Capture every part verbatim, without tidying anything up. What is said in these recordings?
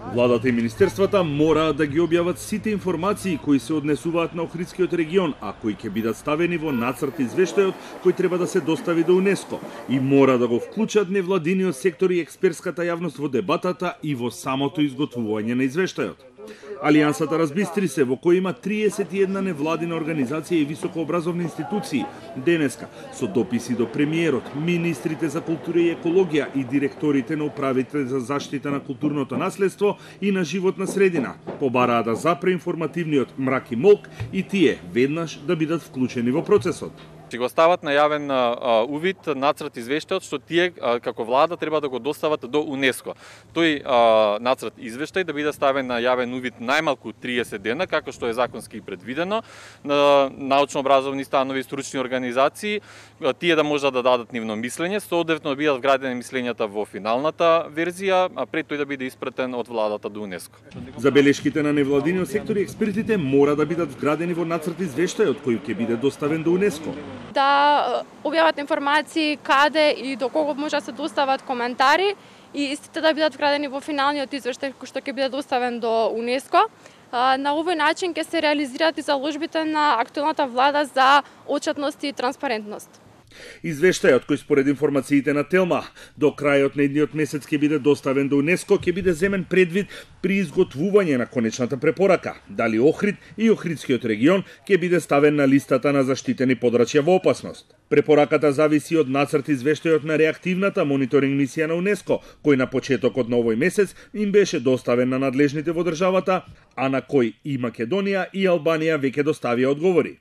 Владата и министерствата мораат да ги објават сите информации кои се однесуваат на Охридскиот регион, а кои ќе бидат ставени во нацрт извештајот кој треба да се достави до УНЕСКО и мора да го вклучат невладиниот сектор и експертската јавност во дебатата и во самото изготвување на извештајот. Алијансата разбистри се, во кој има триесет и една невладина организација и високообразовни институции, денеска со дописи до премиерот, министрите за култура и екологија и директорите на управите за заштита на културното наследство и на животна средина, побараа да запре информативниот мрак и молк и тие веднаш да бидат вклучени во процесот. Ќе го стават на јавен а, увид нацрт извештајот што тие а, како влада треба да го достават до УНЕСКО. Тој а, нацрт извештај да биде ставен на јавен увид најмалку триесет дена, како што е законски предвидено, на научно-образовни станови и стручни организации, тие да можат да дадат нивно мислење, соодветно да бидат вградени мислењата во финалната верзија, а пред тој да биде испратен од владата до УНЕСКО. Забелешките на невладиниот сектор и експертите мора да бидат вградени во нацрт извештајот кој ќе биде доставен до УНЕСКО. Да објават информации каде и до кого може да се достават коментари и истите да бидат вградени во финалниот извештај кој што ќе биде доставен до УНЕСКО. На овој начин ќе се реализираат и заложбите на актуелната влада за отчетност и транспарентност. Извештајот кој според информациите на Телма до крајот на едниот месец ќе биде доставен до УНЕСКО ќе биде земен предвид при изготвување на конечната препорака, дали Охрид и Охридскиот регион ќе биде ставен на листата на заштитени подрачја во опасност. Препораката зависи од нацрт извештајот на реактивната мониторинг мисија на УНЕСКО, кој на почетокот на овој месец им беше доставен на надлежните во државата, а на кој и Македонија и Албанија веќе доставија одговори.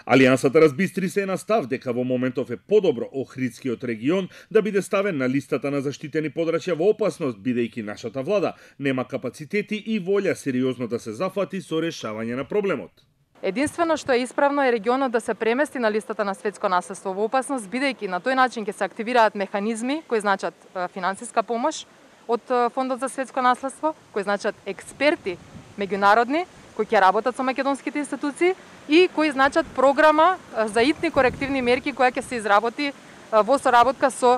Алијансата разбистри се на став дека во моментов е подобро Охридскиот регион да биде ставен на листата на заштитени подрачја во опасност, бидејќи нашата влада нема капацитети и волја сериозно да се зафати со решавање на проблемот. Единствено што е исправно е регионот да се премести на листата на светско наследство во опасност, бидејќи на тој начин ќе се активираат механизми кои значат финансиска помош од Фондот за светско наследство, кои значат експерти меѓународни кои ќе работат со македонските институции и кои значат програма за итни корективни мерки која ќе се изработи во соработка со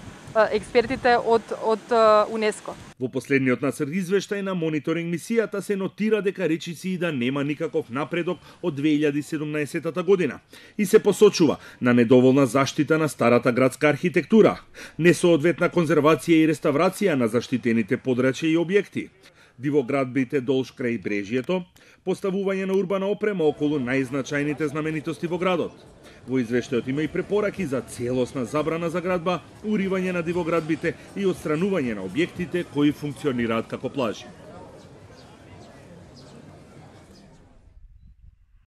експертите од од УНЕСКО. Во последниот нацрт извештај на мониторинг мисијата се нотира дека речиси и да нема никаков напредок од две илјади и седумнаесетта година и се посочува на недоволна заштита на старата градска архитектура, несоодветна конзервација и реставрација на заштитените подрачја и објекти, дивоградбите долж крај брежјето, поставување на урбана опрема околу најзначајните знаменитости во градот. Во извештајот има и препораки за целосна забрана за градба, уривање на дивоградбите и отстранување на објектите кои функционираат како плажи.